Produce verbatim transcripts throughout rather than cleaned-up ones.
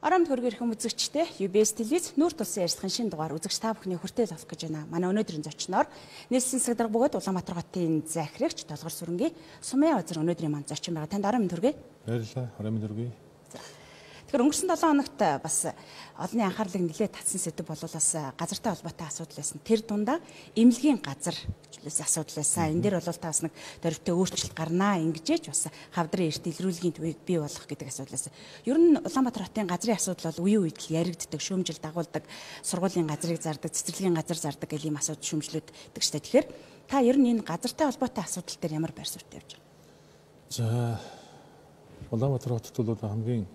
Оромд хөргөр хүм үзэгчтэй ю би эс телевиз нүүр тулсан ярилцлагын шинэ дугаар үзэгч та бүхний хүртэл авах гэж байна. Манай өнөөдрийн зочноор нийслэлийн засаг дарга бөгөөд Улаанбаатар хотын захирагч Толгор сүрэнгийн Сумын Озер өнөөдрийн манд зочин байгаа. Танд орон мэнд хүргэе. Баярлалаа. Орон мэнд хүргэе. Тэгэхээр өнгөрсөн долоо хоногт бас олонний анхаарлыг нэлээд татсан сэдв бол бас газартай холбоотой асуудал байсан. Тэр дундаа эмнэлгийн газар асуудал байсан. Энэ дээр бол та бас нэг дөрвтэй өөрчлөлт гарнаа ингэжээч бас хавдрын эрт илрүүлгийн төвийг бий болгох гэдэг асуудал байсан. Ер нь Улаанбаатар хотын газрын асуудал бол үеийн үед л яригддаг, шүүмжил дагуулдаг, сургуулийн газрыг зардаг, цэцэрлэгийн газар зардаг гэх ийм асуудал шүүмжлүүд гэдэг ч тэгэхээр та ер нь энэ газартай холбоотой асуудал дээр ямар байр суурьтай явж байгаа? За Улаанбаатар хотод бол хамгийн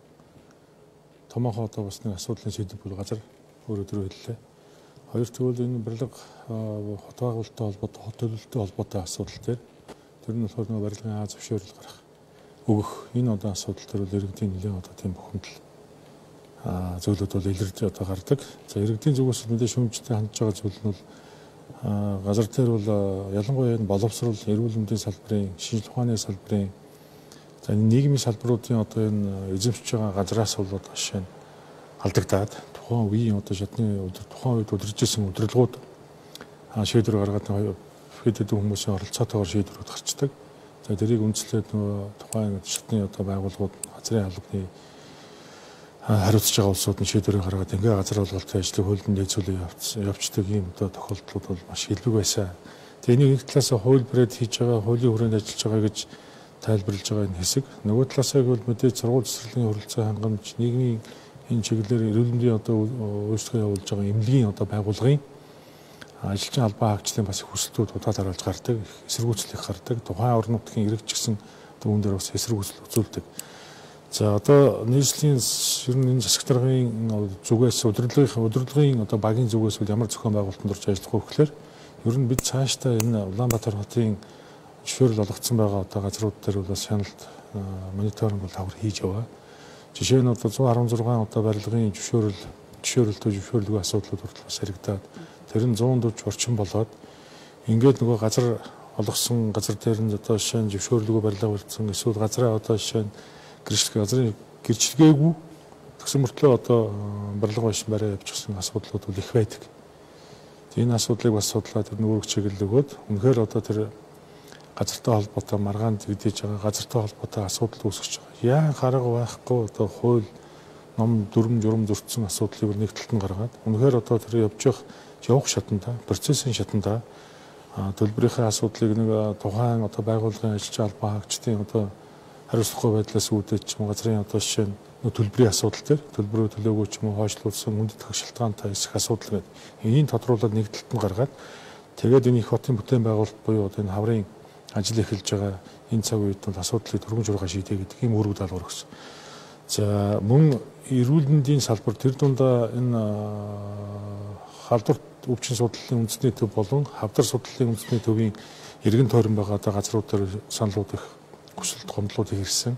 томоохон одоо бас нэг асуудлын сэдэв бол газар өөрөө төрөө хэллээ. Хоёр тэгвэл энэ барилга хот байгуулалттай холбоотой, хот төлөвлөлттэй холбоотой асуудал дээр тэр нь болохоор нэг барилгын аа зөвшөөрөл гарах өгөх энэ одоо асуудал дээр бол иргэдийн нэлээд одоо тийм бухимдал аа зөвлөд бол илэрж одоо гардаг. За иргэдийн зүгээс нэлээд шүүмжтэй хандж байгаа зүйл нь бол газар дээр бол ялангуяа энэ боловсрол, эрүүл мэндийн салбарын, шинжилгээ ухааны салбарын за нийгмийн салбаруудын одоо энэ эзэмшиж байгаа газраас бол одоо жишээ нь алдагдаад тухайн үеийн одоо шатны тухайн үед удиржсэн удирдлагууд шийдвэр гаргаад хэд хэдэн хүмүүсийн оролцоотойгоор шийдвэрүүд гарчдаг. За тэрийг үндэслээд нөгөө тухайн шатны одоо байгууллагууд газрын албаны хариуцж байгаа улсууд нь шийдвэрийг гаргаад ингээ газар олголтын ажлыг хуулинд нээцүүлээ явцдаг ийм одоо тохиолдлууд бол маш илбэг байсан. Тэгээ нэг талаас хууль бариад хийж байгаа, хуулийн хүрээнд ажиллаж байгаа гэж тайлбарлаж байгаа энэ хэсэг. Нөгөө талаасаа бол мэдээж сургууль цэцэрлэгийн хөрөлцөө хангамж, нийгмийн энэ чиглэлээр эрүүл мэндийн одоо өөрчлөлт явуулж байгаа эмнэлгийн одоо байгууллагын ажилчин албан хаагчлалын бас хүсэлтүүд удаа дараалж гардаг, эсэргүүцлэх гардаг. Тухайн орон нутгийн иргэд ч гэсэн үүн дээр бас эсэргүүцэл үзүүлдэг. За одоо нийслэлийн ер нь энэ засаг даргын зүгээс удирдлагын удирдлагын одоо багийн зүгээс ямар зохион байгуулалтанд орж ажиллах вэ гэхээр ер нь бид цаашдаа энэ Улаанбаатар хотын зөвшөөрөл олгогдсон байгаа одоо газрууд дээр бол шаналт мониторинг бол хавар хийж яваа. Жишээ нь одоо зуун арван зургаан одоо барилгын зөвшөөрөл зөвшөөрөлтөө зөвшөөрлгүй асуудлууд хүртэл бас харагдаад тэр нь зуун дурж орчин болоод ингээд нөгөө газар олгосон газар дээр нь одоо жишээ нь зөвшөөрлгүй барилга барьсан эсвэл газраа одоо жишээ нь гэрчлэг газрын гэрчлэгээгүй тэгсэн мөртлөө одоо барилга байшин барай явуулсан асуудлууд бол их байдаг. Энэ асуудлыг бас судлаад тэр нүрэг чиглэл өгөөд үнэхээр одоо тэр газартай холбоотой маргаан зэгдэж байгаа газартай холбоотой асуудал үүсгэж байгаа. Яа харга байхгүй одоо хууль ном дүрм журм зөрчсөн асуудлыг нэг талд нь гаргаад үнэхээр одоо тэр явж явах явах шатанда процессын шатанда төлбөрийнхээ асуудлыг нэг тухайн одоо байгууллагын ажилчин албан хаагчдын одоо хариуцлагагүй байдлаас үүдэж ч юм газрын одоо жишээ нь төлбөрийн асуудал дээр төлбөрөө төлөөгүй ч юм уу хойшлуулсан үндэт шалтгаантай эсэх асуудал гэдэг энийг тодруулаад нэг талд нь гаргаад тэгээд энэ их хотын бүтээн байгуулалт буюу одоо энэ хаврын ажил эхэлж байгаа энэ цаг үед бол асуудлыг түргэн жургаа шийдэ гэдэг ийм үүрэг даалгавар өгсөн. За мөн эрүүл мэндийн салбар тэр дундаа энэ халдварт өвчин судлалын үндэсний төв болон хавдар судлалын үндэсний төвийн иргэн тойрон байгаа одоо газрууд дээр саналууд их хүсэлт гомдлууд ирсэн.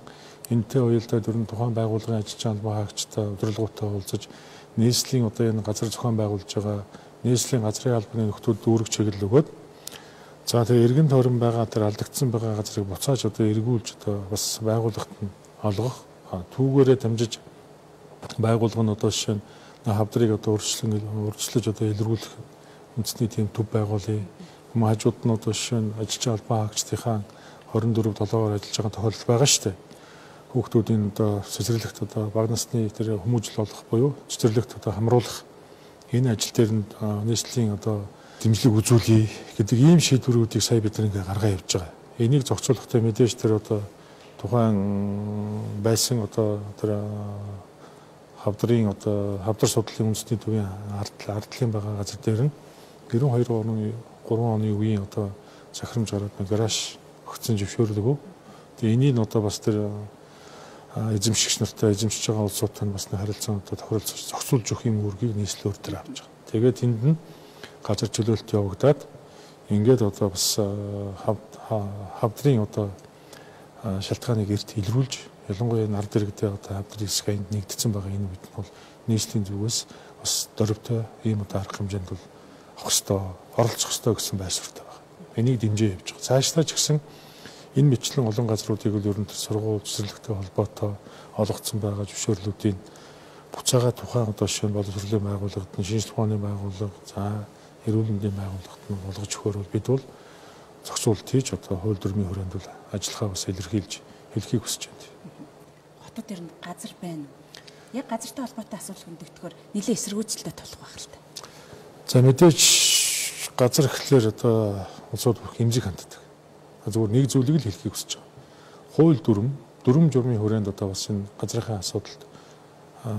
Энэтэй уялдаад ер нь тухайн байгууллагын ажилчин албан хаагчтай удирдлагуудтай уулзаж нийслэлийн одоо энэ газар зохион байгуулж байгаа нийслэлийн газрын албаны нөхдүүд үүрэг чиглэл өгөөд за тэгээ иргэн тойрон байгаа тэр алдагдсан байгаа газрыг буцааж одоо эргүүлж одоо бас байгууллагт нь олгох түүгээрээ дамжиж байгууллага нь одоо жишээ нь хавдрыг одоо өөрчлөн өөрчлөж одоо илрүүлэх үндэсний тийм төв байгуулъя. Хүмүүс хажууд нь одоо жишээ нь ажилчин албан хаагчдынхаа хорин дөрөв долоогоор ажиллаж байгаа тохиолдол байгаа шүү дээ. Хүүхдүүдийн одоо цэцэрлэгт одоо бага насны тэр хүмүүжил олох буюу цэцэрлэгт одоо хамруулах энэ ажил дээр нь нийслэлийн одоо дэмжлэг үзүүлье гэдэг ийм шийдвэрүүдийг сая бид нэг гаргаа явж байгаа. Энийг зохицуулахдаа мэдээж тэр одоо тухайн байсан одоо тэр хавдрын одоо хавдар судлалын үндэсний төвийн ардлын байгаа газар дээр нь гэрэн хоёр оны гурван оны үеийн одоо захирамж гараад гараж өгсөн зөвшөөрлөг. Тэгээ энийг одоо бас тэр эзэмшигч нартай эзэмшиж байгаа улсуудтай бас харилцаан одоо тохиролцож зохицуулж өгөх юм үүргийг нийслэлээр дээр авч байгаа. Тэгээд тэнд нь газар чөлөөлт явагдаад ингээд одоо бас хавдрын одоо шалтгааныг эрт илрүүлж ялангуяа нар дэрэгдээ одоо хавдрын хэсэг энд нэгдсэн байгаа энэ үед нь бол нийслэлийн зүгээс бас дөрвтэй ийм одоо арга хэмжээнд бол авах ёстой, оролцох ёстой гэсэн байр суурьтай байна. Энийг дэмжиж явж байгаа. Цаашдаа ч гэсэн энэ мэтлэн олон газруудыг л ер нь сургууль цэцэрлэгтэй холбоотой олгогдсон байгаа зөвшөөрлүүдийн буцаага тухайн одоо жишээ нь боловсролын байгууллагад нь шинжлэх ухааны байгууллага за эрүүл мэндийн байгууллагад нь болгож өгөхөөр бол бид бол зохицуулт хийж одоо хууль дүрмийн хүрээнд бол ажиллахаа бас илэрхийлж хэлхийг хүсэж байна. Хотод ер нь газар байна. Яг газартай холбоотой асуудал хөндөгдөхөөр нэлээд эсэргүүцэлтэй тулах байх л та. За мэдээж газар гэхлээр одоо улсууд бүх эмзэг ханддаг. Зүгээр нэг зүйлийг л хэлхийг хүсэж байгаа. Хууль дүрм, дүрм журмын хүрээнд одоо бас энэ газрынхаа асуудалд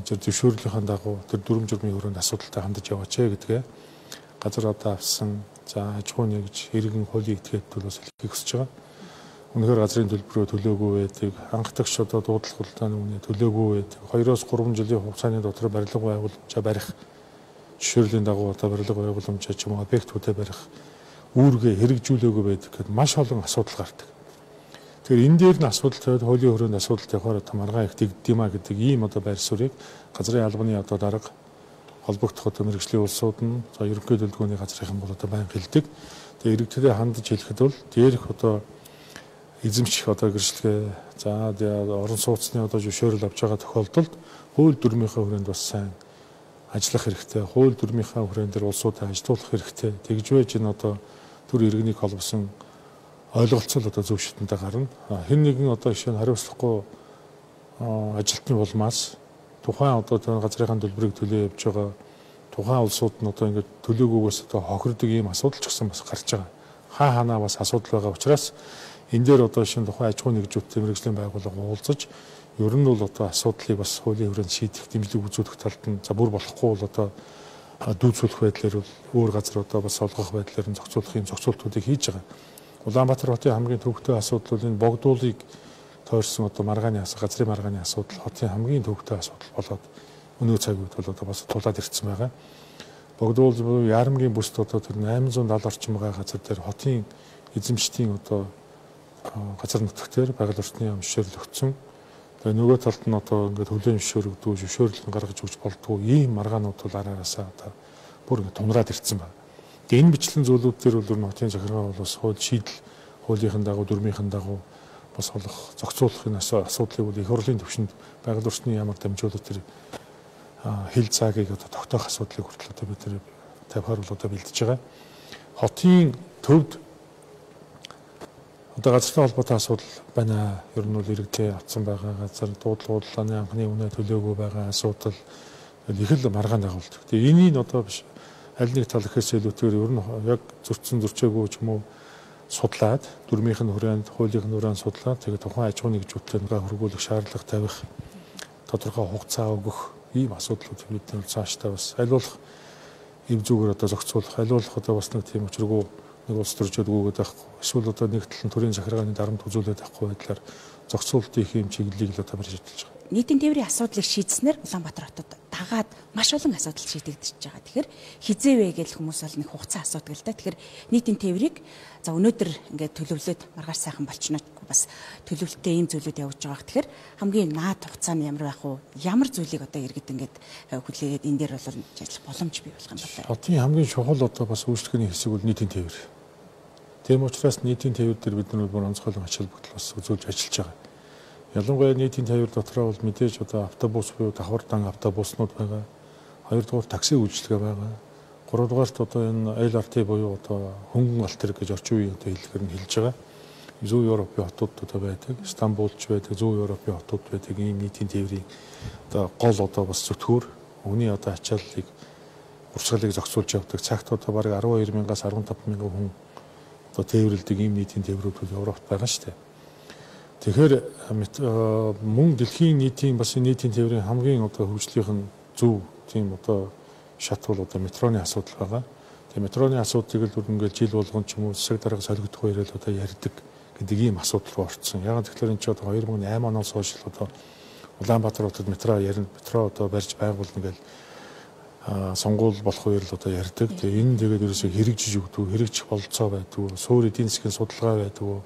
зөв зөвшөөрлийнхаа дагуу тэр дүрм журмын хүрээнд асуудалтай хандаж яваач гэдгээ газар одоо авсан за аж ахуй нэгж иргэн хуулийг этгээд бол бас хэлхийг хүсэж байгаа. Үнэхээр газрын төлбөрөө төлөөгүй байдаг, анхдагч одоо дуудлах хулгайны үнэ төлөөгүй байдаг. Хоёроос гурван жилийн хугацааны дотор барилга байгууламжаа барих, жишээлийн дагуу одоо барилга байгууламжаа ч юм уу объектуудаа барих үүргээ хэрэгжүүлээгүй байдаг гэхэд маш олон асуудал гардаг. Тэгэхээр энэ дээр нь асуудал тавиад хуулийн хүрээнд асуудал тавихаар одоо маргаан их дэгдэм а гэдэг ийм одоо байр суурийг газрын албаны одоо дарга холбогдох одоо мэргэжлийн улсууд нь за ерөнхий төлөвлөгөөний газрынхан бол одоо байнга хэлдэг. Тэгээ иргэдэд хандаж хэлэхэд бол дээрх одоо эзэмших одоо гэрчлэгээ за орон сууцны одоо зөвшөөрөл авч байгаа тохиолдолд хууль дүрмийнхаа хүрээнд бас сайн ажиллах хэрэгтэй. Хууль дүрмийнхаа хүрээнд дээр улсуудаа ажилуулах хэрэгтэй. Тэгж байж энэ одоо төр иргэнийг холбосон ойлголцол одоо зөв шатантай гарна. Хэн нэгэн одоо жишээ нь хариуцлахгүй ажилтны улмаас тухайн одоо тэр газрынхаа төлбөрийг төлөө явж байгаа тухайн улсууд нь одоо ингээд төлөөгөөс одоо хохирдог ийм асуудал ч гэсэн бас гарч байгаа. Хаа ханаа бас асуудал байгаа учраас энэ дээр одоо шинэ тухайн аж ахуй нэгжүүдтэй мэргэжлийн байгууллага уулзаж ер нь бол одоо асуудлыг бас хуулийн хүрээнд шийдэх дэмжлэг үзүүлэх талд нь за бүр болохгүй бол одоо дүүцүүлэх байдлаар бол өөр газар одоо бас олгох байдлаар нь зохицуулах юм зохицуултуудыг хийж байгаа. Улаанбаатар хотын хамгийн төвөгтэй асуудал бол энэ богдуулыг тойрсон одоо маргааны асуудал, газрын маргааны асуудал хотын хамгийн төвөгтэй асуудал болоод өнөө цаг үед бол одоо бас тулаад ирсэн байгаа. Богдуул буюу Ярамгийн бүсд одоо тэр восемь семьдесят орчим байгаа газар дээр хотын эзэмшдийн одоо газар нутагтэр байгаль орчны яам зөвшөөрөл өгсөн. Тэгээ нөгөө талд нь одоо ингээд хөлийн зөвшөөрөгдөө зөвшөөрөл гаргаж өгч болдгоо ийм маргаанууд бол араараасаа одоо бүр ингээд тунраад ирсэн байна. Тэгээ энэ бичлэн зүйлүүд дээр бол хотын захиргаа бол бас хууль шийдэл хуулийнхын дагуу дүрмийнхэн дагуу бас олох зохицуулахын асуудлыг бол их хурлын түвшинд байгаль орчны яамаар дамжуулаад тэр хил цагийг одоо тогтоох асуудлыг хүртэл одоо бид нэр тавихаар бол одоо бэлдэж байгаа. Хотын төвд одоо газартай холбоотой асуудал байна. Ер нь бол иргэдээ авсан байгаа газар дуудлагууллааны анхны үнэ төлөөгүй байгаа асуудал их л маргаан дагуулдаг. Тэгээ энийг одоо биш аль нэг тал ихээс илүүтэйгээр ер нь яг зөрчсөн зөрчөөгүй ч юм уу судлаад дүрмийнх нь хүрээнд хуулийн хүрээнд судлаад тэгээ тухайн аж ахуй нэгжүүдтэй нэгэ хөргүүлэх шаардлага тавих тодорхой хугацаа өгөх ийм асуудлууд бидний цаашдаа бас аль болох эв зүгээр одоо зохицуулах аль болох одоо бас нэг тийм учиргүй нэг улс төржөөд гүгээд байхгүй эсвэл одоо нэг талын төрийн захиргааны дарамт үзүүлээд байхгүй байдлаар зохицуулт их юм чиглэлийг л одоо барьж ажиллаж байгаа. Нийтийн тээврийн асуудлыг шийдснээр Улаанбаатар хотод дагаад маш олон асуудал шийдэгдэж байгаа. Тэгэхээр хизээ вэ гэж хүмүүс бол нэг хугацаа асуудаг л да. Тэгэхээр нийтийн тээврийг за өнөөдөр ингээд төлөвлөд маргааш сайхан болчихно бас төлөвлөлттэй ийм зүйлүүд явж байгаа. Тэгэхээр хамгийн наад хугацаа нь ямар байх вэ? Ямар зүйлийг одоо иргэд ингээд хүлээгээд энэ дээр бол ажиллах боломж бий болох юм байна. Хотын хамгийн чухал одоо бас үйлчлэгээний хэсэг бол нийтийн тээвэр. Тийм учраас нийтийн тээвэр дээр бид нар бүр онцгойлон ач холбогдол бас үзүүлж ажиллаж байгаа. Ялангуяа нийтийн тээвэр дотроо бол мэдээж одоо автобус буюу давхар дан автобуснууд байгаа. Хоёрдугаар такси үйлчилгээ байгаа. Гуравдугаарт одоо энэ эл ар ти буюу одоо хөнгөн алт хэрэг гэж орчин үеийн одоо хэллэгээр нь хэлж байгаа. Зүүн Европын хотууд одоо байдаг. Стамбулч байдаг, Зүүн Европын хотууд байдаг. Ийм нийтийн тээврийн одоо гол одоо бас зүтгүүр өвний одоо ачааллыг урсгалыг зохицуулж явдаг. Цагт одоо бараг арван хоёр мянгаас арван таван мянган хүн одоо тээвэрлдэг ийм нийтийн тээврүүд бол Европт байгаа шүү дээ. Тэгэхээр мөн дэлхийн нийтийн бас нийтийн тээврийн хамгийн одоо хөгжлийнх нь зөв тийм одоо шат бол одоо метроны асуудал байгаа. Тэгээ метроны асуудлыг л ингээд жил болгон ч юм уу засаг дарга солигдох хоёроо л одоо ярьдаг гэдэг ийм асуудал руу орцсон. Яг тэгэхээр энэ ч одоо хоёр мың и осем оноос хойш л одоо Улаанбаатар хотод метро ярина, метро одоо барьж байгуулна гэж сонгуул болох үеэр л одоо ярьдаг. Тэгээ энэ тэгээд ерөөсөө хэрэгжиж өгдөг, хэрэгжих бололцоо байдаг, суур эдийн засгийн судалгаа байдаг.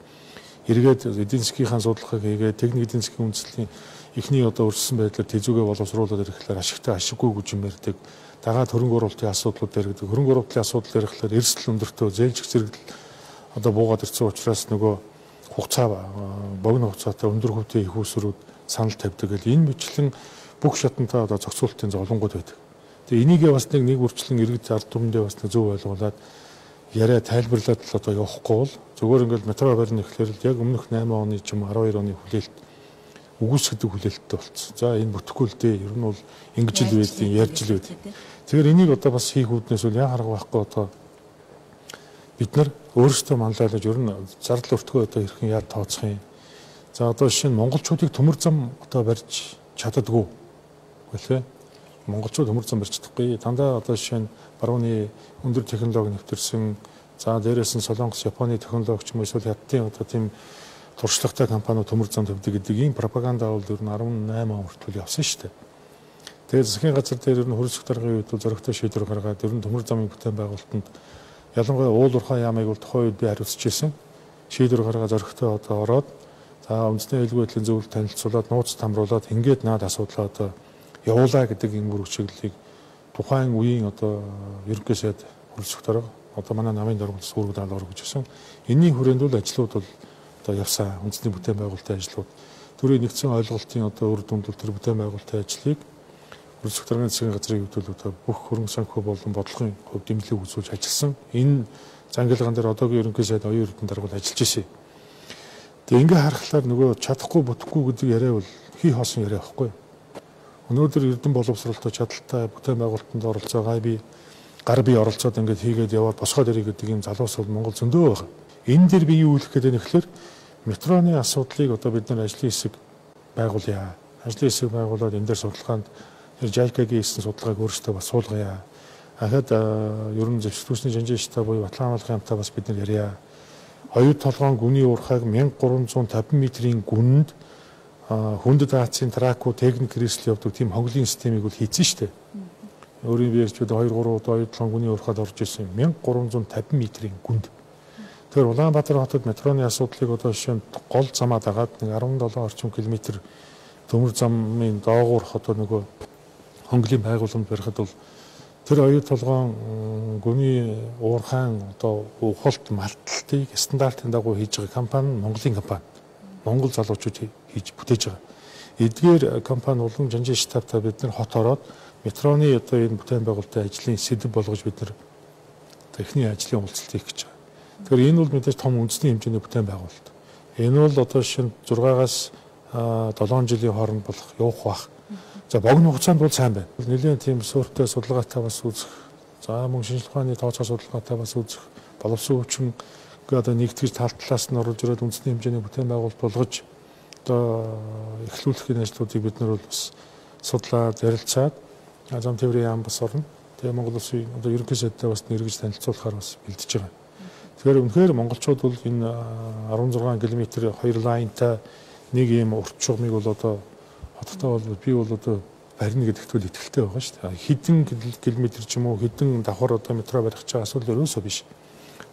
Эргээд эдийн засгийнхаа судалгааг хийгээд техник эдийн засгийн үндэслэлийн эхний одоо өрссөн байдлаар тэзүүгээ боловсруулаад ирэхлээр ашигтай ашиггүй гэж юм ярьдаг. Дагаад хөрөнгө оруулалтын асуудлууд яригдаг. Хөрөнгө оруулалтын асуудал ярихлаар эрсдэл өндөртөө зээлжих зэрэгдэл одоо буугаад ирсэн учраас нөгөө хугацаа богино хугацаатай өндөр хөвтэй их усрүүд санал тавьдаг. Энэ мэтлэн бүх шатантаа одоо зохицуулалтын зовлонгууд байдаг. Тэгээ энийгээ бас нэг нэг үрчлэн иргэд ард түмэндээ бас нэг зөв ойлгуулад яриа тайлбарлаад л одоо явахгүй бол зүгээр ингээл метро барьна гэхлээр л яг өмнөх найман оны ч юм уу арван хоёр оны хүлээлт үгүйсгдэг хүлээлттэй болцсон. За энэ бүтэхгүй л дээ. Ер нь бол ингэж л байдیں۔ Ярьж л байд. Тэгэхээр энийг одоо бас хийх үүднээс үл яа харга байхгүй одоо бид нар өөрсдөө манлайлаж ер нь зардал өртгөө одоо хэрхэн яа тооцох юм. За одоо жишээ нь монголчуудыг төмөр зам одоо барьж чаддаггүй гэлээ. Монголчууд төмөр зам барьж чадахгүй. Дандаа одоо жишээ нь барууны өндөр технологи нэвтэрсэн за дээрээс нь Солонгос, Японы технологи ч юм уу эсвэл хятадын одоо тийм туршлагатай компаниуд төмөр зам тавьдаг гэдэг ийм пропаганда бол ер нь арван найман он хүртэл явсан шүү дээ. Тэгээд засгийн газар дээр ер нь хөрөлсөх даргын үед бол зөрөгтэй шийдвэр гаргаад ер нь төмөр замын бүтээн байгуулалтанд ялангуяа уул уурхай яамыг бол тухайн үед би хариуцж ирсэн. Шийдвэр гаргаад зөрөгтэй одоо ороод за үндэсний аюулгүй байдлын зөвлөлд танилцуулаад нууц тамруулаад ингээд наад асуудлаа одоо явуулаа гэдэг энэ бүр чиглэлийг тухайн үеийн одоо ерөнхий сайд хөрөлсөх дарга одоо манай намын дарга сүрэг даалгавар гэж байсан. Энийн хүрээнд бол ажлууд бол одоо явсан үндэсний бүтээн байгуулалтын ажлууд төрийн нэгдсэн ойлголтын одоо үр дүнд бол тэр бүтээн байгуулалтын ажлыг хөрөлсөх даргын засгийн газрын хувьд одоо бүх хөрөнгө санхүү болон бодлогын хувьд дэмжлэг үзүүлж ажилласан. Энэ зангилгаан дээр одоогийн ерөнхий сайд оюун эрдэнэ дарга бол ажиллаж ирсэн. Тэгээ ингээ харахаар нөгөө чадахгүй бүтэхгүй гэдэг яриа бол хий хоосон яриа байхгүй. Өнөөдөр эрдэнэ боловсролтой чадaltaй бүтээн байгуулалтанд оролцоо гай би гар бие оролцоод ингээд хийгээд яваад босгоод ирэх гэдэг юм залуус бол Монгол зөндөө байгаа. Энэ дээр би юу хэлэх гээд байна гэхээр метроны асуудлыг одоо бид нар ажлын хэсэг байгуулъя. Ажлын хэсэг байгуулад энэ дээр судалгаанд жайкагийн хийсэн судалгааг өөрсдөө бас суулгая. Ахад ерөн зэвсэгтүүсний жанжин штаб буюу Батлан хамгааллын хамтаа бас бид нар ярья. Оюу толгойн гүний уурхайг мянга гурван зуун тавин метрийн гүнд хүндэт хаацын траку техник хэрэгсэл явдаг тийм хонглын системийг бол хийсэн шүү дээ. Өөрийн биерч бид хоёр гурван удаа оюу толгойн гүний уурхайд орж ирсэн мянга гурван зуун тавин метрийн гүнд. Тэгэхээр Улаанбаатар хотод метроны асуудлыг одоо жишээ нь гол замаа дагаад нэг арван долоо орчим километр төмөр замын доогуур одоо нөгөө хонглын байгууламж барихад бол тэр оюу толгойн гүний уурхайн одоо ухалт малталтыг стандартын дагуу хийж байгаа компани Монголын компани. Монгол залуучууд хийж бүтээж байгаа. Эдгээр компани улам жанжин штабтай бид нар хот ороод метроны одоо энэ бүтээн байгуулалтын ажлын сэдэв болгож бид нар техникийн ажлын уулзалт хийх гэж байгаа. Тэгэхээр энэ бол мэдээж том үндэсний хэмжээний бүтээн байгуулалт. Энэ бол одоо шинэ зургаагаас долоон жилийн хооронд болох явах бах. За богино хугацаанд бол сайн байна. Нэлээд тийм суурьтай судалгаатай бас үзэх. За мөн шинжилгээ ухааны тооцоо судалгаатай бас үзэх. Боловсон хүчин одоо нэгтгэж тал талаас нь оруулж ирээд үндэсний хэмжээний бүтээн байгуулалт болгож одоо эхлүүлэхийн ажлуудыг бид нар бол бас судлаад ярилцаад зам тээврийн яам бас орно. Тэгээ Монгол Улсын одоо ерөнхий сайдтай бас нэргэж танилцуулахаар бас бэлдэж байгаа. Тэгэхээр үнэхээр монголчууд бол энэ арван зургаан километр хоёр лайнтай нэг ийм урт чугмыг бол одоо хоттой бол би бол одоо барьна гэдэгт бол итгэлтэй байгаа шүү дээ. Хэдэн километр ч юм уу хэдэн давхар одоо метро барих чагаа асуудал ерөөсөө биш.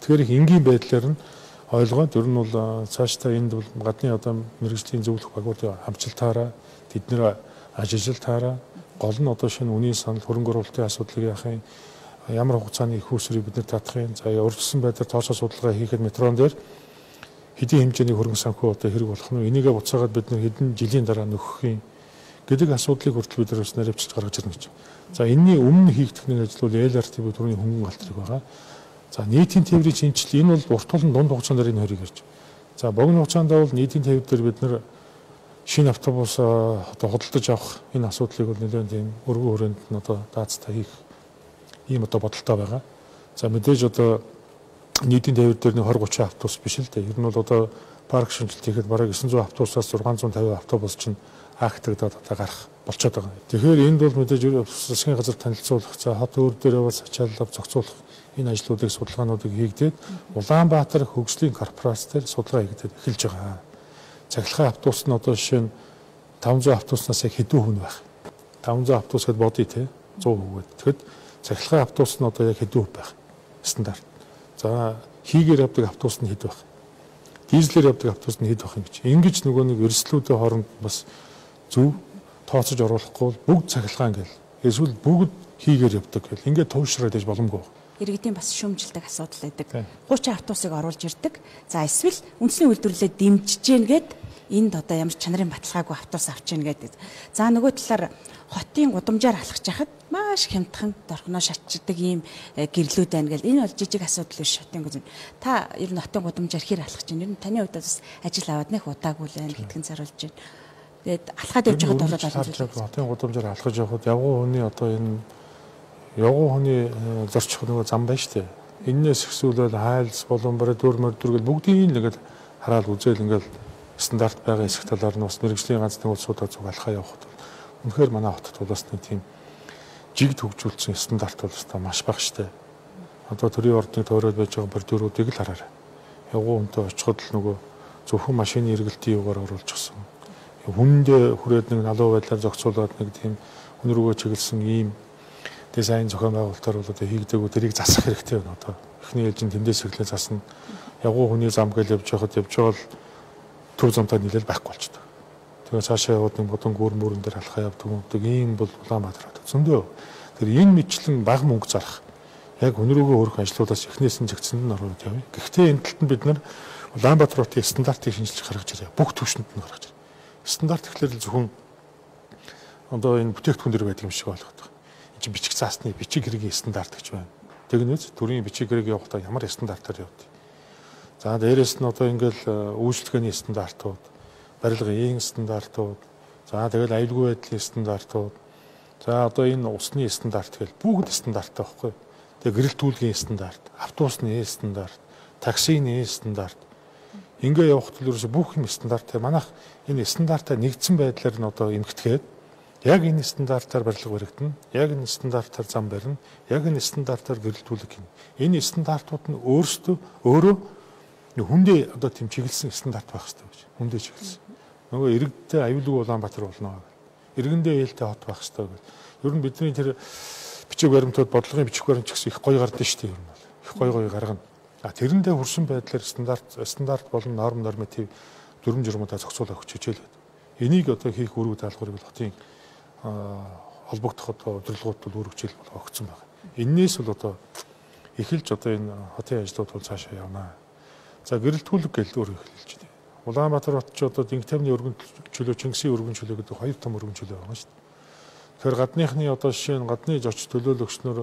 Тэгэхээр их энгийн байдлаар нь ойлгоод ер нь бол цаашдаа энд бол гадны одоо мэрэгжлийн зөвлөх багуудын хамтчилтаараа тэднэр ажилтнаараа гол нь одоо шинэ үнийн санал хөрөнгө оруулалтын асуудлыг яахын ямар хугацааны их усрыг бид нар татахын за урьдчилсан байдлаар тооцоо судалгаа хийхэд метрон дээр хэдийн хэмжээний хөрөнгө санхүү одоо хэрэг болох нь энийгээ буцаагаад бид нар хэдэн жилийн дараа нөхөх юм гэдэг асуудлыг хүртэл бид нар бас наривчилж гаргаж ирнэ гэж. За энэний өмнө хийгдэх нэг ажил бол эл ар ти би түрүүний хөнгөн галтрыг байгаа. За нийтийн тээврийн шинжилэл энэ бол урт тулан дунд хугацаанд энэ хоёрыг ярьж. За богино хугацаанд бол нийтийн тээвэр дээр бид нар шинэ автобус одоо худалдаж авах энэ асуудлыг бол нэлээд тийм өргөн хүрээнд нь одоо даацтай хийх ийм одоо бодолтой байгаа. За мэдээж одоо нийтийн тээвэр дээр нэг двадцать тридцать автобус биш л дээ. Ер нь бол одоо парк шинжилт хийхэд бараг девятьсот автобусаас шесть пятьдесят автобус чинь актагдаад одоо гарах болчиход байгаа. Тэгэхээр энд бол мэдээж засгийн газар танилцуулах, за хот өөр дээрээ бас ачаалал зохицуулах энэ ажлуудыг судалгаануудыг хийгдээд Улаанбаатар хөгжлийн корпорац дээр судалгаа хийгдээд эхэлж байгаа. Цахилгаан автобус нь одоо жишээ нь таван зуун автобуснаас хэдэн хүн байх. таван зуун автобус гэдээ бодъё те сто хүүгээд. Тэгэхэд цахилгаан автобус нь одоо яг хэдэн хүн байх стандарт. За хийгээр явдаг автобус нь хэд байх. Дизелээр явдаг автобус нь хэд байх юм гэж. Ингэж нөгөө нэг өрсөлдүүдийн хооронд бас зөв тооцож оруулахгүй бол бүгд цахилгаан гэл. Эсвэл бүгд хийгээр явдаг гэл. Ингээд туушраад иж боломгүй. Иргэдийн бас шүүмжилдэг асуудал байдаг. тридцать автобусыг оруулж ирдэг. За эсвэл үндэсний үйлдвэрлэлээ дэмжиж гэнгээд энд одоо ямар чанарын баталгаагүй автобус авч ийн гэдэг. За нөгөө талаар хотын гудамжаар алхаж яхад маш хямдхан дорхноо шатчдаг ийм гэрлүүд байна гэл. Энэ бол жижиг асуудал биш хотын гудамж. Та ер нь хотын гудамжаар хэр алхаж байна? Ер нь таны хувьд бас ажил аваад нэх удаагүй л байна гэдгийг заруулж байна. Тэгээд алхаад явж байхад бол олон зүйл. Хотын гудамжаар алхаж явхад явган хүний одоо энэ явган хүний зорчих нөгөө зам байна шүү дээ. Эннээс ихсүүлэл хайлс болон барь дөр мөрдөр гэл бүгдийг л ингээд хараад үзэл ингээд стандарт байгаа хэсэг талаар нь бас мэрэгжлийн ганц нэг улсуудаа зүг алхаа явахад үнэхээр манай хотод бол бас нэг тийм жиг төгжүүлсэн стандарт бол өстой маш бага штэ. Одоо төрийн ордны тойроод байж байгаа бордюруудыг л хараарай. Явган хүнтэй очиход л нөгөө зөвхөн машины эргэлтийн югаар оруулж гисэн. Хүндээ хүрээд нэг налуу байдлаар зохицуулаад нэг тийм хүн рүүгээ чиглэсэн ийм дизайн зохион байгуулалтаар бол одоо хийгдэггүй тэрийг засах хэрэгтэй байна. Одоо эхний ээлжинд тэндээс эхлээ засна. Явган хүний зам гэж явж байхад явж байгаа л төв замтай нийлэл байхгүй болчихдог. Тэгээ цаашаа яваад нэг бодон гүр мөрөн дээр алхаа явдаг юмдаг ийм бол Улаанбаатар хот зөндөө. Тэр энэ мэтлэн бага мөнгө зарах яг хүн рүүгээ хөрөх ажлуудаас эхнээс нь зэгцэнд нь ороод явъя. Гэхдээ энэ талд нь бид нар Улаанбаатар хотын стандартыг шинжилж гаргаж ирээ. Бүх түвшинд нь гаргаж ирээ. Стандарт гэхлээр зөвхөн одоо энэ бүтээгдэхүүн дэр байдаг юм шиг болгоод байна. Энд чинь бичиг заасны бичиг хэргийн стандарт гэж байна. Тэгнээс төрийн бичиг хэрэг явахдаа ямар стандартаар явдаг. За дээрэс нь одоо ингээл үйлчлэгээний стандартууд, барилгын стандартууд, за тэгэл аюулгүй байдлын стандартууд, за одоо энэ усны стандарт гэл бүгд стандарттай байхгүй. Тэгээ гэрэлтүүлгийн стандарт, автобусны стандарт, таксины стандарт. Ингээ явахад л ерөөсө бүх юм стандарттай. Манайх энэ стандартаа нэгдсэн байдлаар нь одоо эмгэтгээд яг энэ стандартаар барилга баригдана, яг энэ стандартаар зам барина, яг энэ стандартаар гэрэлтүүлэг хийнэ. Энэ стандартууд нь өөрсдөө өөрөө хүндээ одоо тийм чиглэсэн стандарт байх хэрэгтэй гэж. Хүндээ чиглэсэн. Нөгөө иргэдтэй аюулгүй Улаанбаатар болно гэх. Иргэндээ ээлтэй хот байх хэрэгтэй гэж. Ер нь бидний тэр бичиг баримтууд бодлогын бичиг баримт ч гэсэн их гоё гардаг шүү дээ ер нь бол. Их гоё гоё гаргана. А тэрэндээ хүрсэн байдлаар стандарт стандарт болон норм норматив дүрм журмуудаа зохицуулах хичээл байдаг. Энийг одоо хийх үүрэг даалгаврыг бол хотын холбогдох одоо удирдлагууд бол үүрэг хичээл бол огцсон байна. Эннээс бол одоо эхэлж одоо энэ хотын ажлууд бол цаашаа явна. За гэрэлтүүлэг гэж өөр хэлж байна. Улаанбаатар хот ч одоо Дэнг тамны өргөн чөлөө, Чингисийн өргөн чөлөө гэдэг хоёр том өргөн чөлөө байна шүү дээ. Тэгэхээр гадныхны одоо жишээ нь гадны зоч төлөөлөгчнөр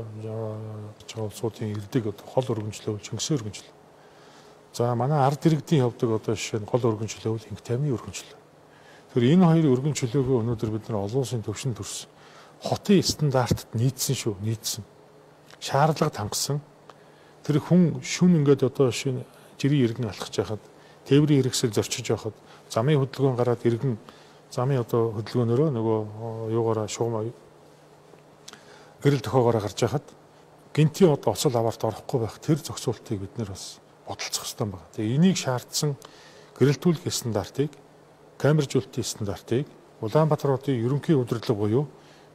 жоо улсуудын ирдэг одоо хол өргөн чөлөө, Чингисийн өргөн чөлөө. За манай ард иргэдийн явдаг одоо жишээ нь гол өргөн чөлөө бол Дэнг тамны өргөн чөлөө. Тэгэхээр энэ хоёр өргөн чөлөөгөө өнөөдөр бид нар олон улсын төвшөнд төрсөн. Хотын стандартад нийцсэн шүү, нийцсэн. Шаардлага тангасан. Тэр хүн шүн ингээд одоо жишээ нь жирийн иргэн алхаж байхад, тээврийн хэрэгсэл зорчиж байхад, замын хөдөлгөөн гараад иргэн замын одоо хөдөлгөөнөөрөө нөгөө юугаараа шугам гэрэл тохоогоороо гарч байхад гинтийн одоо оцол аваарт орохгүй байх тэр зохицуултыг бид нэр бас бодолцох хэрэгтэй байна. Тэгээ энийг шаардсан гэрэлтүүлэх стандартыг, камержуулалтын стандартыг Улаанбаатар хотын ерөнхий удирдлага буюу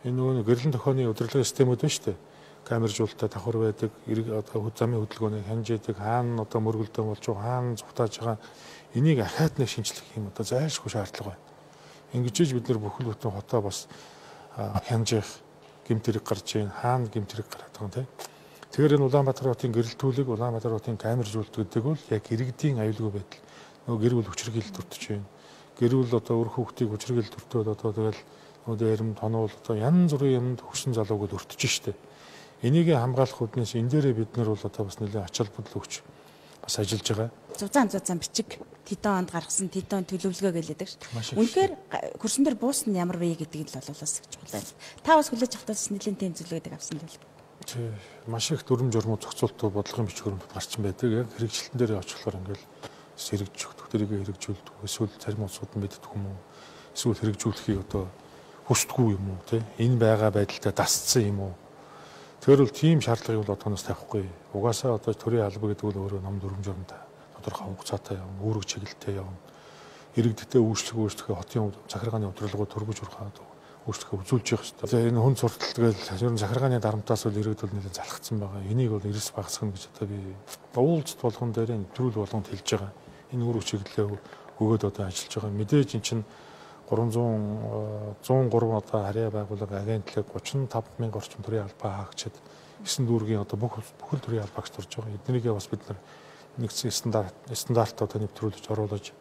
энэ нөгөө гэрэлэн тохооны удирдлагын системүүд байна шүү дээ. Камержуулалтаа давхар байдаг, одоо замын хөдөлгөөнийг хянжээдэг, хаана одоо мөргөлдөө болж байгаа, хаана зүгтааж байгаа энийг ахаад нэг шинжлэх юм одоо зайлшгүй шаардлага байна. Ингэж бид нар бүхэл бүтэн хотоо бас хянжих гэмтэрэг гарч ийн, хаана гэмтэрэг гараад байгаа юм те. Тэгэхээр энэ Улаанбаатар хотын гэрэлтүүлэг, Улаанбаатар хотын камержуулалт гэдэг бол яг иргэдийн аюулгүй байдал. Нөгөө гэр бүл хүчирхийлэл төртөж байна. Гэр бүл одоо өөр хүүхдийг хүчирхийлэл төртөөд одоо тэгэл нөгөө эрэм тонуул одоо янз бүрийн юмд хөшин залууг өртөж штэ. Энийг хамгаалах үднээс энэ дээрээ бид нар бол одоо бас нэлээд ач холбогдол өгч бас ажиллаж байгаа. Зузаан зузаан бичиг тэдэн онд гаргасан тэдэн төлөвлөгөө гэлээдэг шүү. Үнэхээр хөрсөн дээр буусна ямар вэ гэдгийг л бол бас гэж байна. Та бас хүлээж авах тус нэлээд тэм зөвлөгөөдөг авсан л. Тий, маш их дүрм журмууд зохицуултууд бодлогын бичиг баримт гарчин байдаг. Яг хэрэгжилтэн дээр очихлоор ингээл сэрэгж өгдөг, тэрийг хэрэгжүүлдэг. Эсвэл зарим улсууд нь мэддэг юм уу? Эсвэл хэрэгжүүлэхийг одоо хүсдэггүй юм уу? Тэ энэ байгаа байдалтай дасцсан юм уу? Тэр бол тийм шаардлагыг бол одооноос тавихгүй. Угаасаа одоо төрийн алба гэдэг бол өөрөө ном дүрм журмтай тодорхой хугацаатай явна, үүрэг чиглэлтэй явна. Иргэдтэй үйлчлэг үйлчлэгээ хотын захиргааны удирдлагууд төргөж урхаад үйлчлэгээ үзүүлж явах хэрэгтэй. За энэ хүн сурталт гээл ер нь захиргааны дарамтаас бол иргэд бол нэлээд залхацсан байгаа. Энийг бол эрс багасгах гэж одоо би уулзалт болгон дээр нэвтрүүл болгонд хэлж байгаа. Энэ үүрэг чиглэлээ өгөөд одоо ажиллаж байгаа. Мэдээж эн чинь зуун гурван одоо харьяа байгууллага агентлаг гучин тавд мянган орчим төрийн албаа хаагчид эсэнд дүүргийн одоо бүх бүхэл төрийн албаагч турж байгаа. Эднэрийгээ бас бид нар нэгдсэн стандарт стандарт одоо нэвтрүүлж оруулж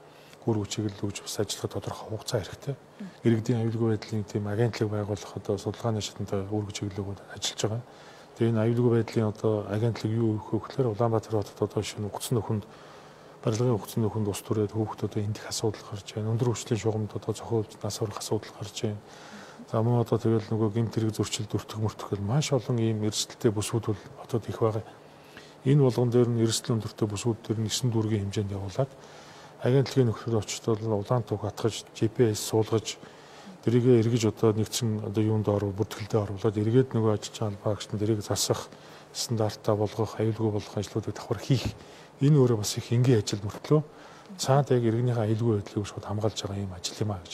үр хүчийг л өгж бас ажиллах тодорхой хугацаа хэрэгтэй. Иргэдийн аюулгүй байдлын тийм агентлаг байгуулах одоо судалгааны шатанд үр хүчийг л өгөөд ажиллаж байгаа. Тэгээ энэ аюулгүй байдлын одоо агентлаг юу өгөх вэ гэхээр Улаанбаатар хотод одоо шинэ өгцөн нөхөнд барилгын өгцөн нөхөнд ус түрээд хүүхдүүд одоо эндих асуудал гарч байна. Өндөр хүчлийн шугамд одоо цохиулж нас орох асуудал гарч байна. За мөн одоо тэгэл нөгөө гэмт хэрэг зөрчил дүртэг мөртгөл маш олон ийм эрсдэлтэй бүсүүд бол хотод их байгаа. Энэ болгон дээр нь эрсдэл өндөртэй бүсүүд дээр нь эсрэг дүүргийн хэмжээнд явуулаад агентлагийн нөхцөл очтол улаан туг хатгаж джи пи эс суулгаж дэрийгээ эргэж одоо нэгдсэн одоо юунд оров бүртгэлдээ оруулаад эргээд нөгөө ажиллаж байгаа багшин дэрийг засах стандартаа болгох аюулгүй болгох ажлуудыг давхар хийх энэ өөрөө бас их энгийн ажил мөртлөө цаад яг иргэнийхээ аюулгүй байдлыг шууд хамгаалж байгаа юм ажил юм а гэж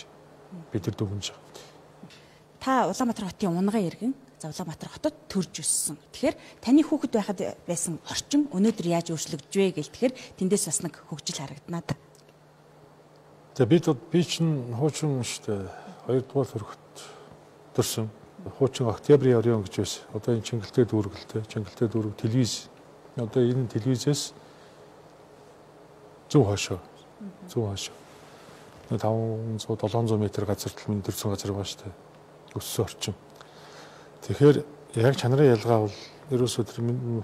бид нар дүгнэж байгаа. Та Улаанбаатар хотын унган иргэн Улаанбаатар хотод төрж өссөн. Тэгэхээр таны хүүхэд байхад байсан орчин өнөөдөр яаж өөрчлөгдөж вэ гэл тэгэхээр тэндээс бас нэг хөгжил харагдана да. За бид би чинь хуучин шүү дээ. Хоёрдугаар төрөхт төрсөн. Хуучин Октябрийн орон гэж байсан. Одоо энэ Чингэлтэй дүүргэлтэй, Чингэлтэй дүүрэг телевиз. Одоо энэ телевизээс зөв хойшоо. Зөв хойшоо. таванзуу долоонзуу метр газар тал минь төрсөн газар байгаа шүү дээ. Өссөн орчин. Тэгэхээр яг чанарын ялгаа бол ерөөсөө тэр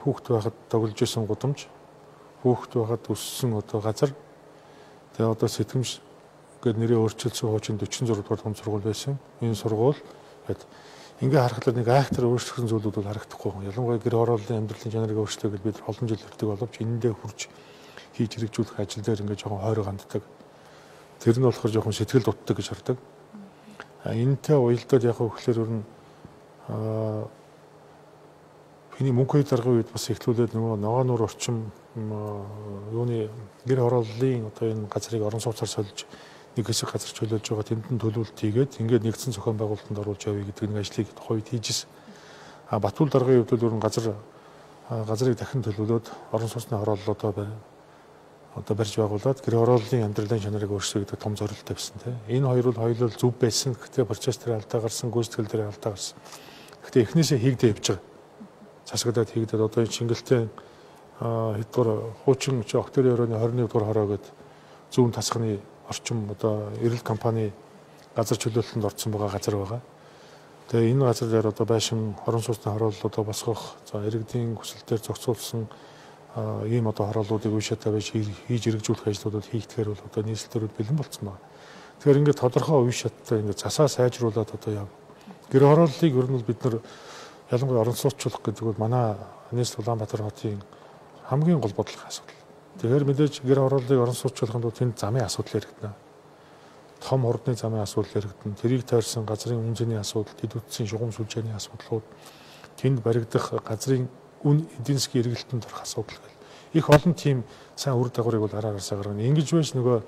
хүүхэд байхад тоглож исэн гудамж, хүүхэд байхад өссөн одоо газар. Тэгээ одоо сэтгэмж гээд нэрээ өөрчилсөн хуучин дөрвөн зураг дугаар том сургууль байсан. Энэ сургууль гээд ингээ харахад нэг айхтар өөрчлөгдсөн зүйлүүд бол харагдахгүй. Ялангуяа гэр хорооллын амьдралын чанарыг өөрчлөө гэж бид олон жил өртөг боловч энэндээ хурж хийж хэрэгжүүлэх ажил дээр ингээ жоохон хойроо ганддаг. Тэр нь болохоор жоохон сэтгэл дутдаг гэж хардаг. А энэтэй уялдаад яг хөглөр өрн аа миний мөнхөй даргын үед бас эхлүүлээд нөгөө ногоо нуур орчим юуны гэр хорооллын одоо энэ газрыг орон сууцаар сольж нэг хэсэг газар чөлөөлж байгаа тэнд нь төлөвлөлт хийгээд ингээд нэгдсэн зохион байгуулалтанд оруулж явъя гэдэг нэг ажлыг тухайд хийжсэн. А Батбул даргын үед бол газар газрыг дахин төлөвлөөд орон сууцны хорооллоо одоо байна. Одоо барьж байгуулад гэр хорооллын амьдралын чанарыг өөрчлөх гэдэг том зорилттой байсан тийм. Энэ хоёр бол хоёулаа зөв байсан. Гэхдээ процесс дээр алдаа гарсан, гүйцэтгэл дээр алдаа гарсан. Гэхдээ эхнээсээ хийгдээ явж байгаа. Засагдаад хийгдээд одоо энэ Чингэлтэй хэдгээр хуучин Октябрийн оройн хорин нэг дугаар хороо гэдэг зүүн тасганы орчим одоо эрэлт компани газар чөлөөлөлтөнд орсон байгаа газар байгаа. Тэгээ энэ газар дээр одоо байшин орон сууцны хорооллуудаа босгох, за иргэдийн хүсэлтээр зохицуулсан ийм одоо хорооллуудыг үе шатаа байж хийж хэрэгжүүлэх ажлуудад хийгдэхээр бол одоо нийслэлтэрүүд бэлэн болсон байна. Тэгэхээр ингээд тодорхой үе шаттай ингээд засаа сайжруулад одоо яв. Гэр хорооллыг ер нь бид нар ялангуяа орон сууцчлах гэдэг бол манай нийслэл Улаанбаатар хотын хамгийн гол бодлогын асуудал. Тэгэхээр мэдээж гэр хорооллыг орон сууцчлахын тулд тэнд замын асуудал яригдана. Том хурдны замын асуудал яригдана. Тэрийг тойрсон газрын үнцний асуудал, дэд үтсийн шугам сүлжээний асуудлууд, тэнд баригдах газрын үн эдийн засгийн эргэлтэнд орох асуудал гэл. Их олон тийм сайн үр дагаврыг бол араагаасаа гаргана. Ингэж байж нөгөө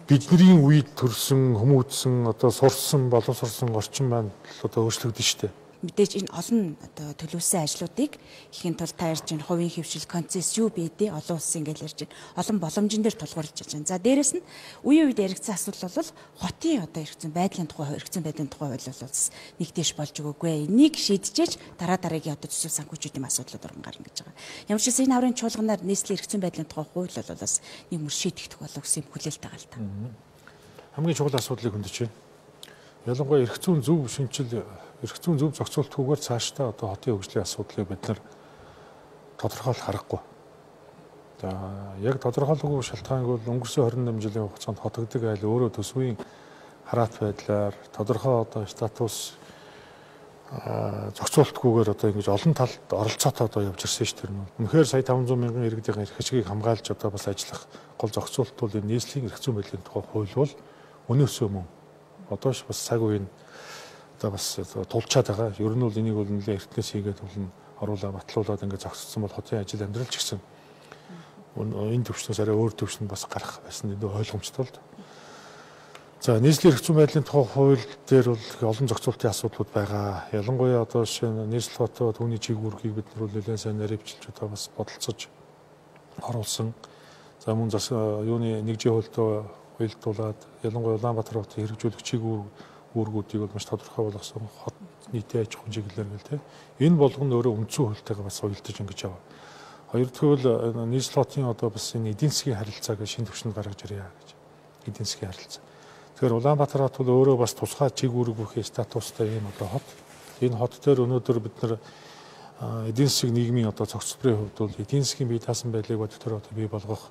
бидний үед төрсэн, хүмүүжсэн, одоо сурсан, боловсрсон орчин маань одоо өөрчлөгдөн штэ. Мэдээж энэ олон одоо төлөвлөсөн ажлуудыг хийхин тулд та ярьж байна хувийн хөвшил концесс юу бэдэ олон улсын гэж ярьж байна. Олон боломжн дээр тулгуурлаж байна. За дээрэс нь үеийн үед яригдсан асуудал бол хотын одоо эргэцэн байдлын тухай эргэцэн байдлын тухай ойлголол бас нэгдэж болж өгөөгүй. Энийг шийдчихэж дараа дараагийн одоо төсөв санхүүжүүдийн асуудлууд орон гарна гэж байгаа. Ямар ч гэсэн энэ хаврын чуулганаар нийслэлийн эргэцэн байдлын тухай хууль бол бас нэг мөр шийдэгдэх болов гэсэн хүлээлт байгаа л та. Хамгийн чухал асуудлыг хөндөж байна. Ялангуяа эргэцэн зөв шинжил эргэцэн зөв зохицуултгүйгээр цаашдаа одоо хотын хөгжлийн асуудлыг бид нар тодорхойлох аргагүй. За яг тодорхойлоогүй шалтгааныг бол өнгөрсөн хорин найман жилийн хугацаанд хотогддог айл өөрөө төсвийн хараат байдлаар тодорхой одоо статус зохицуултгүйгээр одоо ингэж олон талд оролцоотой одоо явж ирсэн шүү дээ. Үнэхээр сая таван зуун мянган иргэдийн эрх хэсгийг хамгаалж одоо бас ажиллах гол зохицуулт бол энэ нийслэлийн эрх зүйн байдлын тухай хууль бол өнөөсөө мөн одоо ш бас цаг үеийн одоо бас тулчаад байгаа. Ер нь бол энийг бол нэлээд эртнээс хийгээд бол оруулаа батлуулаад ингээд зогссон бол хотын ажил амьдрал ч гэсэн энэ төвчнөөс арай өөр төвчнд бас гарах байсан энэ ойлгомжтой л. За нийслэлийн эрх зүйн байдлын тухай хууль дээр бол олон зохицуултын асуудлууд байгаа. Ялангуяа одоо шинэ нийслэл хотоо түүний чиг үүргийг бид нар нэлээд сайн наривчилж одоо бас бодолцож оруулсан. За мөн зас юуны нэг жи хуультай уялдуулаад ялангуяа Улаанбаатар хотын хэрэгжүүлэх чиг үүргүүдийг бол маш тодорхой болгосон хот нийтийн аж ахуйн чиглэлээр гэл те. Энэ болгоно өөрөө үндсэн хуультайгаа бас уялдаж ингэж яваа. Хоёр дахь нь нийслэл хотын одоо бас энэ эдийн засгийн харилцааг шинэ түвшинд гаргаж ирье гэж. эдийн засгийн харилцаа. Тэгэхээр Улаанбаатар хот бол өөрөө бас тусгай чиг үүрэг бүхий статустай ийм одоо хот. Энэ хот дээр өнөөдөр бид нар эдийн засгийн нийгмийн одоо цогцлборын хувьд бол эдийн засгийн бие даасан байдлыг бодитоор одоо бий болгох,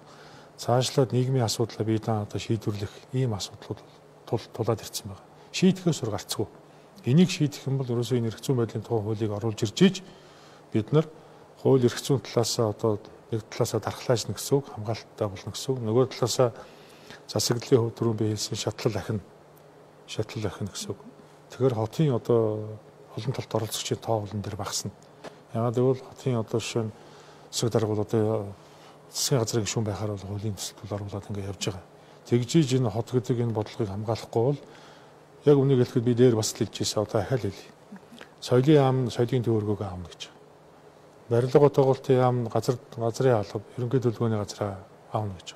цаашлаад нийгмийн асуудлаа бие даан одоо шийдвэрлэх ийм асуудлууд тулаад ирсэн байна. Шийдэхээс өр гарцгүй. Энийг шийдэх юм бол ерөөсөө энэ эрх зүйн байдлын тухай хуулийг оруулж ирж иж бид нар хууль эрх зүйн талаасаа одоо нэг талаасаа дархлаажна гэсэн үг, хамгаалалттай болно гэсэн үг. Нөгөө талаасаа засаглалын хувьд түрүүн би хэлсэн шатлал ахина, шатлал ахина гэсэн үг. Тэгэхээр хотын одоо олон талт оролцогчийн тоо олон дээр багасна. Яагаад гэвэл хотын одоо жишээ нь засаг дарга бол одоо засгийн газрын гишүүн байхаар бол хуулийн төсөлд оруулаад ингэ явж байгаа. Тэгжиж энэ хот гэдэг энэ бодлогыг хамгаалахгүй бол яг үнийг хэлэхэд би дээр бас л хэлжсэн одоо ахаал хэлье. Соёлын яам, соёлын төвөргөөг аавна гэж. Барилга тогтоолтын яам, газар газрын алба, ерөнхий төлөвлөгөөний газраа аавна гэж.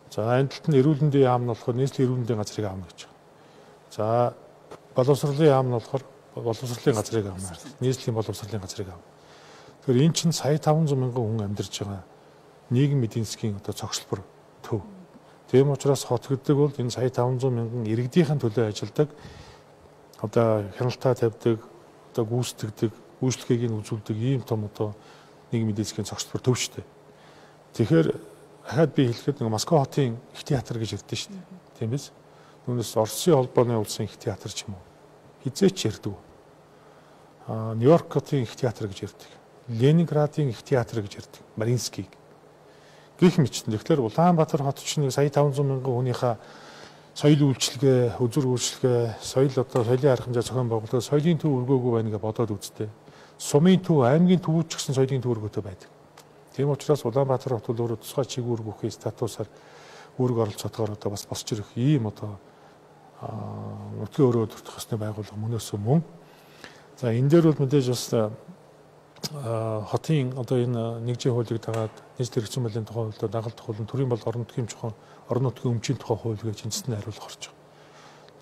За энэ талд нь эрүүл мэндийн яам нь болохоор нийслэлийн эрүүл мэндийн газрыг аавна гэж. За боловсролын яам нь болохоор боловсролын газрыг аавна. Нийслэлийн боловсролын газрыг аавна. Тэгэхээр эн чинь сая таван зуун мянган хүн амьдарч байгаа нийгэм эдийн засгийн одоо цогцлбор төв. Тийм учраас хот гэдэг бол энэ сая таван зуун мянган иргэдийнхэн төлөө ажилладаг, одоо хяналтаа тавьдаг, одоо гүйцэтгэдэг, үйлчлэгийг нь үзүүлдэг ийм том одоо нийгмийн эдийн засгийн цогцлбор төв шүү дээ. Тэгэхээр хаад би хэлэхэд нэг Москва хотын их театр гэж ярьдэн шүү дээ. Тийм биз? Түүнээс Оросын холбооны улсын их театр ч юм уу. Хизээч ярьдаг. Аа Нью-Йорк хотын их театр гэж ярьдаг. Ленинградын их театр гэж ярьдаг. Маринскийг гэх мэтчлэн. Тэгэхээр Улаанбаатар хот чинь сая таван зуун мянган хүнийхээ соёл үйлчлэгээ, үзүр үйлчлэгээ, соёл одоо соёлын арга хэмжээ зохион байгуулалт, соёлын төв өргөөгүй байна гэж бодоод үзтээ. Сумын төв, аймгийн төвүүд ч гэсэн соёлын төв өргөөтэй байдаг. Тийм учраас Улаанбаатар хот бол өөрөө тусгай чиг үүрэг бүхий статусаар үүрэг оролцоотойгоор одоо бас босч ирэх ийм одоо нутгийн өрөө төртөх ёсны байгууллага мөнөөсөө мөн. За энэ дээр бол мэдээж бас хотын одоо энэ нэгжийн хуулийг дагаад нийслэл эрх зүйн байдлын тухай хуулиар дагалдах хууль, төрийн бол орон нутгийн чухал орон нутгийн өмчийн тухай хууль гэж эндсэн хариулах орж байгаа.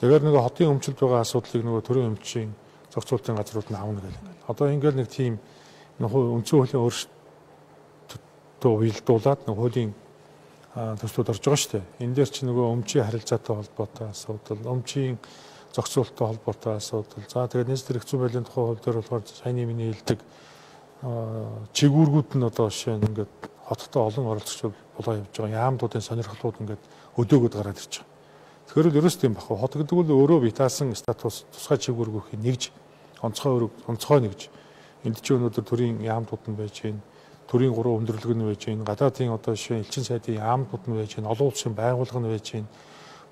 Тэгэхээр нөгөө хотын өмчлөлд байгаа асуудлыг нөгөө төрийн өмчийн зохицуулалтын газрууд нь аавна гэх юм. Одоо ингээд нэг тийм нөгөө үндсэн хуулийн өөрчлөлтөө уялдуулаад нөгөө хуулийн төслүүд орж байгаа шүү дээ. Энэ дээр чи нөгөө өмчийн харилцаатай холбоотой асуудал, өмчийн зохицуулалттай холбоотой асуудал. За тэгээд нийслэл эрх зүйн байдлын тухай хууль дээр болохоор саяны миний хэлдэг чигүүргүүд нь одоо жишээ нь ингээд хоттой олон оролцогч болоо явж байгаа. Яамдуудын сонирхлууд ингээд өдөөгöd гараад ирж байгаа. Тэгэхээр л ерөөс тийм баггүй. Хот гэдэг бол өөрөө битаасан статус тусгай чигүүргүүхийг нэгж онцгой өрөг онцгой нэгж энд чинь өнөөдөр төрийн яамдууд нь байж байна. Төрийн гурван өндөрлөг нь байж байна. Гадаадын одоо жишээ элчин сайдын яамдууд нь байж байна. Олон улсын байгууллага нь байж байна.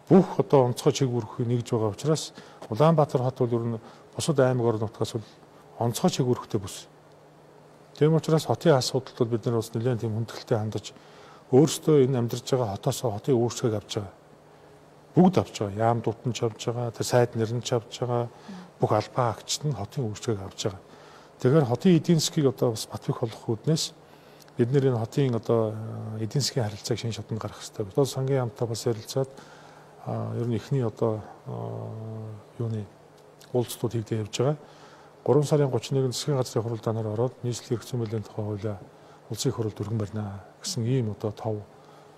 Бүх одоо онцгой чигүүргүүхийг нэгж байгаа учраас Улаанбаатар хот бол ер нь бусад аймаг орон нутгаас бол онцгой чигүүргтэй бүс. Тийм учраас хотын асуудалд бол бид нар бас нэлээд тийм хүндэтгэлтэй хандаж өөрсдөө энэ амьдарч байгаа хотоос хотын өөрчлөлт авч байгаа. Бүгд авч байгаа. Яамдууд нь ч авч байгаа, тэр сайд нэр нь ч авч байгаа. Бүх албаа агчид нь хотын өөрчлөлт авч байгаа. Тэгэхээр хотын эдийн засгийг одоо бас бат бэх болгох үүднээс бид нэр энэ хотын одоо эдийн засгийн харилцааг шинэ шатанд гаргах хэрэгтэй. Одоо сангийн яамтай бас ярилцаад ер нь эхний одоо юуны уулзалтууд хийгдэж явж байгаа. гурван сарын гуравч нэгнд засгийн газрын хурал данаар ороод нийслэлийн эрх зүйн байдлын тухай хуулиа улсын хурлд өргөн барина гэсэн ийм одоо тав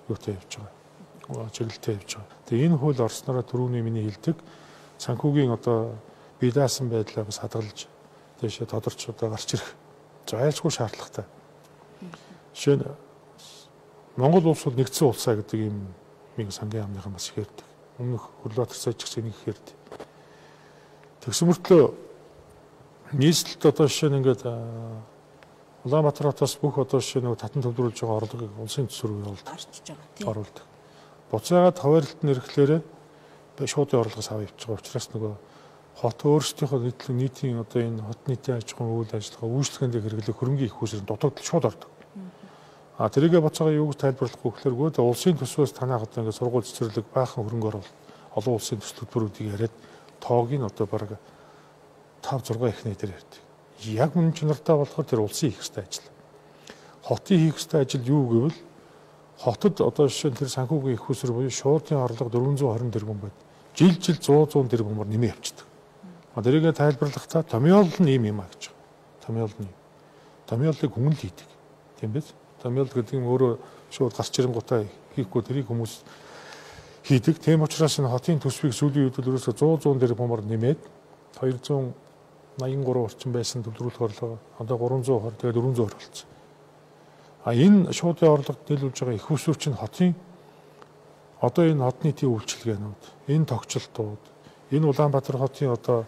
юутай явж байгаа. Чиглэлтэй явж байгаа. Тэгээ энэ хууль орснороо түрүүний миний хэлдэг санхүүгийн одоо бие даасан байдлаа бас хадгалж тийшээ тодорч одоо гарч ирэх зайлшгүй шаардлагатай. Жишээ нь Монгол улс бол нэгдсэн улсаа гэдэг ийм нэг сангийн яамныхан бас их ярьдаг. Өмнөх Хөрлөбаатар сайд ч гэсэн нэг их ярьдаг. Тэгсэн мөртлөө нийслэлд одоо жишээ нь ингээд Улаанбаатар хотоос бүх одоо жишээ нэг татан төвлөрүүлж байгаа орлогыг улсын төсвөр рүү орчиж байгаа тийм оруулдаг. Буцаагаад хаваарлалт нь ирэхлээр шууд орлогоос аваа явж байгаа учраас нөгөө хот өөрсдийнхөө нийтлэг нийтийн одоо энэ хот нийтийн аж ахуйн үйл ажиллагаа үйлчлэгэнд хэрэглэх хөрөнгөний их усрын дутагдал шууд ордог. А тэрийгэ буцаага юу гэж тайлбарлахгүй гэхээр гоо улсын төсвөөс танах одоо ингээд сургууль цэцэрлэг баахан хөрөнгө оруулалт олон улсын төслүүдийг яриад тоог нь одоо бараг тав зургаан ихнэ дээр ярьдаг. Яг мөн чанартай болохоор тэр улсын хийх ёстой ажил. Хотын хийх ёстой ажил юу гэвэл хотод одоо жишээ нь тэр санхүүгийн их усэр буюу шуудын орлого дөрвөн зуун хорин тэрбум байд. Жил жил сто зуун тэрбумаар нэмээ явчихдаг. А тэрийгэ тайлбарлахдаа томьёол нь ийм юм а гэж. Томьёол нь. Томьёолыг хүн л хийдэг. Тийм биз? Томьёол гэдэг нь өөрөө шууд гарч ирэнгуутаа хийхгүй тэрийг хүмүүс хийдэг. Тийм учраас энэ хотын төсвийг сүүлийн үед ерөөсө зуун зуун дээр бомор нэмээд хоёр зуун найман гурван орчим байсан төвлөрүүлэх орлого одоо гурван зуун орчим тэгээд дөрвөн зуун болсон. А энэ шуудын орлогод нийлүүлж байгаа их усүр чинь хотын одоо энэ хотны тийм үйлчилгээнүүд, энэ тогтчлтууд, энэ Улаанбаатар хотын одоо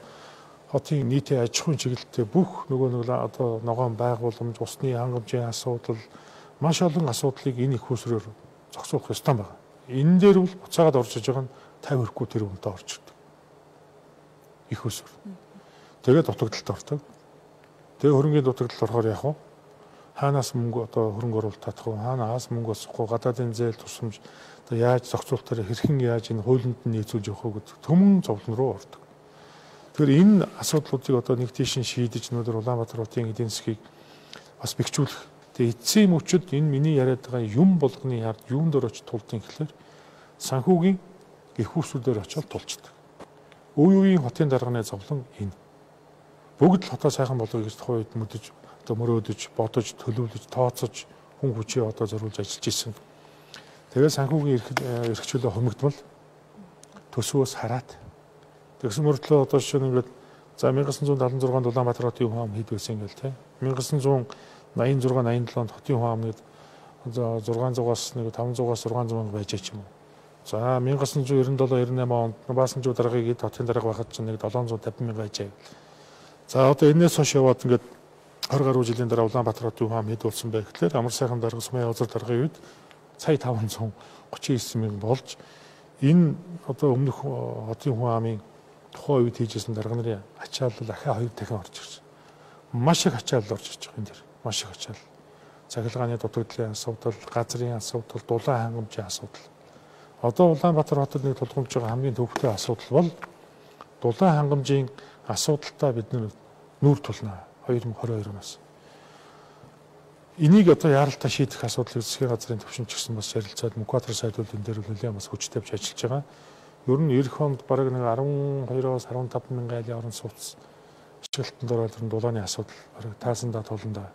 хотын нийтийн аж ахуйн чиглэлтэй бүх нөгөө нэг одоо ногоон байгууламж, усны хангамжийн асуудал, маш олон асуудлыг энэ их усрээр зохицуулах ёстой байна. Энэ дээр бол буцаагаад орж иж байгаа нь тавь хүрэхгүй тэр үнэтэй орж ирдэг. Их усүр. Тэгээд дутагдалд ордог. Тэгээ хөрөнгөний дутагдал орохоор яах вэ? Хаанаас мөнгө одоо хөрөнгө оруулалт татах вэ? Хаанаас мөнгө олсохгүй гадаадын зээл тусламж одоо яаж зохицуулалтаар хэрхэн яаж энэ хуулинд нь нийцүүлж явах вэ гэдэг төмөн зовлон руу ордог. Тэгэхээр энэ асуудлуудыг одоо нэг тийш шийдэж өнөөдөр Улаанбаатар хотын эдийн засгийг бас бэхжүүлэх. Тэгээ эцсийн мөчөд энэ миний яриад байгаа юм болгоны ард юунд дөр очиж тулдсан гэхэлэр санхүүгийн их усүрээр очиод тулчдаг. Үе үеийн хотын дарганы зовлон энэ. Бүгд л хотоо сайхан болгоё гэж тухайн үед мэдэж одоо мөрөөдөж, бодож, төлөвлөж, тооцож хүн хүчээ одоо зориулж ажиллаж исэн. Тэгээ санхүүгийн эрх чөлөө хомигдвол төсвөөс хараад тэгсэн мөртлөө одоо жишээ нь ингээд за 천구 седемдесет шесть Улаанбаатар хотын хүн ам хэд байсан ингээл те. 천구 восемьдесят шесть восемьдесят седем хотын хүн амнууд за зургаан зугаас нэг таван зугаас шесть сая байж ч юм уу. За 천구 девятьсот девяносто семь девяносто восемь онд Баасанжуу даргаыг хэд хотын дарга байхад ч нэг седем сто пятьдесят мянга байжээ. За одоо энэс хойш яваад ингээд двадцать гаруй жилийн дараа Улаанбаатар хотын хүн ам хэд болсон бэ гэхлээр амар сайхан дарга Сумын язар даргаын үед сая таван зуун тридцать девять мянга болж энэ одоо өмнөх хотын хүн амын тухайн үед хийжсэн дарга нарын ачаалал ахаа хоёр дахин орж ирж байна. Маш их ачаалал орж ирж байгаа энэ дэр. Маш их ачаалал. Цахилгааны дутагдлын асуудал, газрын асуудал, дулаан хангамжийн асуудал. Одоо Улаанбаатар хотод нэг тулгамж байгаа хамгийн төвхтэй асуудал бол дулаан хангамжийн асуудалтай бид нүүр тулнаа две тысячи двадцать two оноос. Энийг одоо яаралтай шийдэх асуудлыг засгийн газрын төвшинч гэсэн бас ярилцаад Мукатар сайдууд энэ дээр нэлээд бас хүчтэй авч ажиллаж байгаа. Ер нь эх онд бараг нэг twelve-оос fifteen мянган айлын орон сууц ашиглалтанд ороод ирэн дулааны асуудал бараг таасандаа толондоо.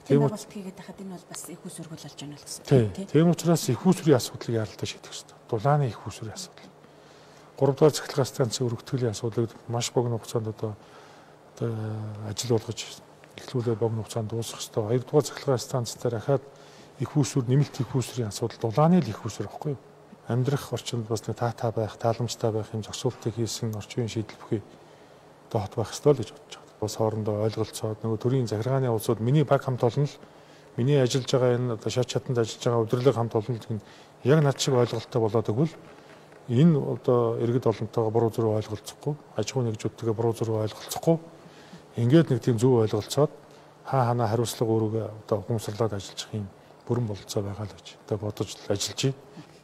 Тийм бол тэгээд хахад энэ бол бас их усүрг болж байна л гэсэн. Тийм учраас их усүрийн асуудлыг яаралтай шийдэх хэрэгтэй. Дулааны их усүрийн асуудал. гурав дахь цахилгаан станцын өргөтгөлийн асуудлыг маш богино хугацаанд одоо одоо ажил болгож эхлүүлээ богино хугацаанд дуусгах хэрэгтэй. хоёр дахь цахилгаан станц дээр ахаад их усүр нэмэлт их усүрийн асуудал дулааны л их усүр байхгүй юу? Амьдрах орчинд бас нэг таатай байх, тааламжтай байх юм зохицуултыг хийсэн орчин үеийн шийдэл бүхий одоо хот байх ёстой л гэж бодож байна. Бас хоорондоо ойлголцоод нөгөө төрийн захиргааны улсууд миний баг хамт олон л миний ажиллаж байгаа энэ одоо шат чаданд ажиллаж байгаа удирдлага хамт олон л яг над шиг ойлголттой болоод өгвөл энэ одоо иргэд олонтойгоо буруу зүрх ойлголцохгүй, аж ахуй нэгжүүдтэйгээ буруу зүрх ойлголцохгүй ингээд нэг тийм зөв ойлголцоод хаа ханаа хариуцлага өөрөөгөө одоо хүмсрлаад ажиллах юм бүрэн бололцоо байгаа л гэж одоо бодож ажиллаж байна.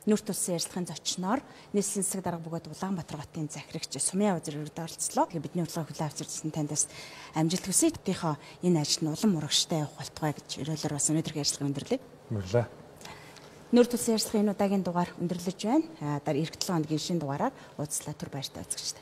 Нүрт улсын ярилцлагын зочноор нийслэлийн засаг дарга бөгөөд Улаанбаатар хотын захирагч Сумын Язар өргөд оролцлоо. Бидний урилгыг хүлээн авч ирсэн таньдас амжилт хүсье. Хотынхоо энэ ажилд нь улам урагштай явах болтугай гэж өрөөлөөр бас өнөөдрийн ярилцлага өндөрлөе. Баярлалаа. Нүрт улсын ярилцлагын энэ удаагийн дугаар өндөрлөж байна. Дараа эх долоо хоногийн шинэ дугаараар уулзлаа түр баяртай үзэгчтэй.